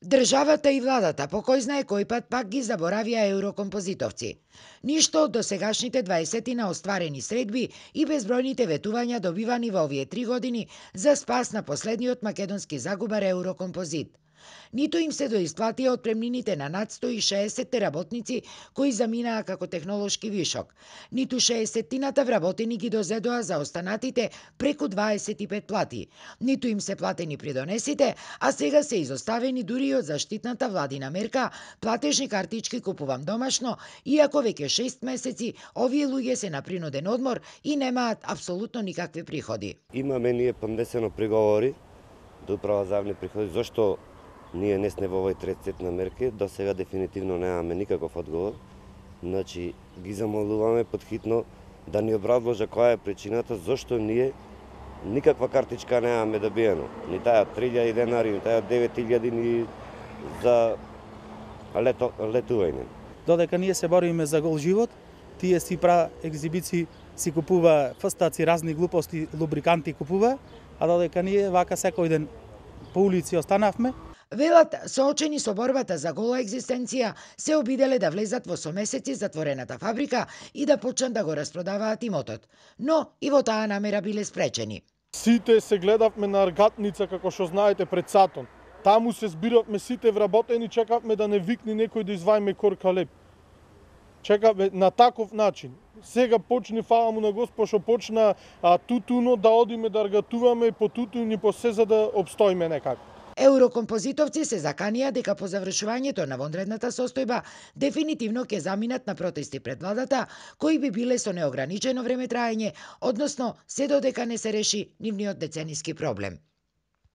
Државата и владата по кој знае кој пат пак ги заборавија еврокомпозитовци. Ништо од досегашните 20 остварени средби и безбројните ветувања добивани во овие 3 години за спас на последниот македонски загубар Еврокомпозит. Ниту им се доисплатија отпремнините на над 160 работници кои заминаа како технолошки вишок, ниту 60-тината вработени ги дозедоа за останатите преку 25 плати, ниту им се платени придонесите, а сега се изоставени дури и од заштитната владина мерка платежни картички купувам домашно, иако веќе 6 месеци овие луѓе се на принуден одмор и немаат апсолутно никакви приходи. Имаме ние поднесено приговори до Управа за јавни приходи зошто ние не сме во овој трет сет на мерки, до сега дефинитивно немаме никаков одговор. Значи, ги замолуваме подхитно да ни образложа која е причината зошто ние никаква картичка немаме добиено. Ни таа 3000 денари, ни таа 9000 ни за летување. Додека ние се бориме за гол живот, тие си пра екзибиции, си купува фстаци, разни глупости, лубриканти купува, а додека ние вака секој ден по улици останавме. Велат, соочени со борбата за гола екзистенција, се обиделе да влезат во со месеци затворената фабрика и да почнат да го распродаваат имотот. Но и во таа намера биле спречени. Сите се гледавме на аргатница, како што знаете, пред сатон. Таму се збиравме сите вработени, чекавме да не викни некој да извајме корка леп. Чекавме на таков начин. Сега почни, фала му на Господ, што почна тутуно да одиме да аргатуваме по тутун и по се за да обстоиме некако. Еврокомпозитовци се заканија дека по завршувањето на вонредната состојба дефинитивно ќе заминат на протести пред владата, кои би биле со неограничено време траење, односно се додека не се реши нивниот децениски проблем.